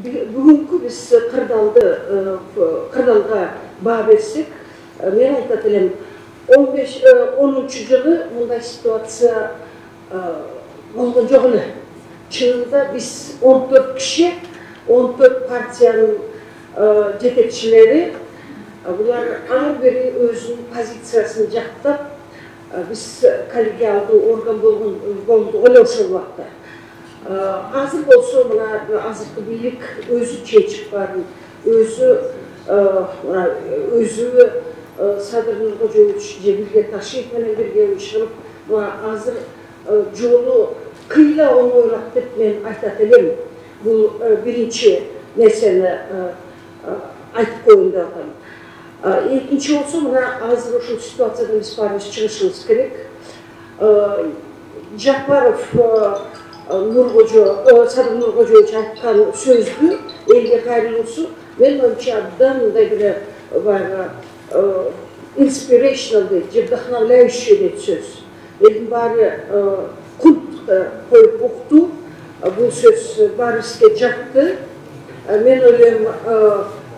бүгүнкү биз кырдаалга баа берсек, мен айтат элем 10-жылы мындай ситуация болгон жок эле. Чынында биз 14 киши, 14 партиянын жетекчилери, булар ар бири өзүнүн позициясын жактап, биз коллегиалдуу орган болдук эле ошол убакта. Азыр болсо мына азыркы бийлик өзү чечип барын, өзү Садыр Нуркожоевич же Билге Ташиев менен бирге чыгып, азыр жолу кыйла оңойлап деп мен айтат элем. Бул биринчи нерсени айтып коеюн деп атам. Экинчи болсо, мына азыр ушул ситуациядан биз баарыбыз чыгышыбыз керек. Жапаров Садыр Нуркожоевич айткан сөздү элге кайрылуусу мен оюмча абдан мындай бир баягы inspirational дейт, же вдохновляющий дейт сөз. Элдин баары культ коюп укту, бул сөз баарыбызга жакты. Мен ойлойм,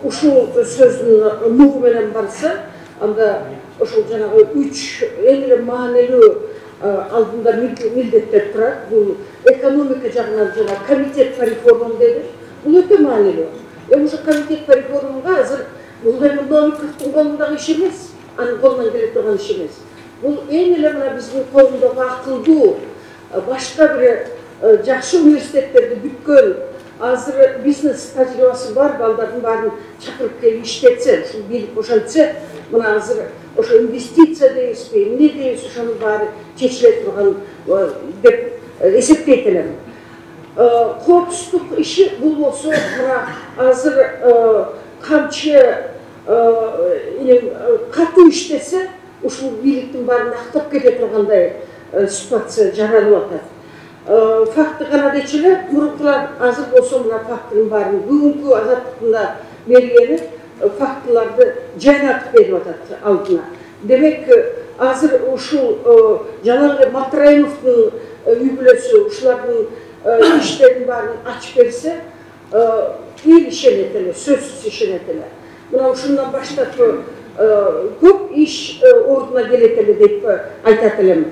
ушул сөздүн нугу менен барса, анда ошол жанагы 3 эң эле маанилүү алдында милдеттер турат. Бул экономика жагынан жана комитет по реформам деди. Бул өтө маанилүү. Ошо комитет по реформага азыр бул Новиковдун колундагы иш эмес, анын колунан келе турган иш эмес. Бул эң эле мына биздин колундагы акылдуу, башка бир жакшы университеттерди бүткөн, азыр бизнес тажрыйбасы бар балдардын баарын чакырып келип иштетсе, ушул бийлик ошентсе, мына азыр ошо инвестиция дейбизби, эмне дейбиз, ошонун баары чечиле турган деп эсептейт элем. Коопсуздук иши бул болсо, мына азыр камчы катуу иштесе, ушул бийликтин баарын актап кете тургандай ситуация жаралып атат. Факты гана дечи эле, мурункулар азыр болсо мына фактынын баарын бүгүнкү Азаттыктын мергени фактыларды жайнатып берип атат алдына. Демек, азыр ушул жанагы Матраимовдун үй бүлөсү ушулардын иштерин баарын ачып берсе, эл ишенет эле, сөзсүз ишенет эле. Мына ушундан баштап көп иш ордуна келет эле деп айтат элем.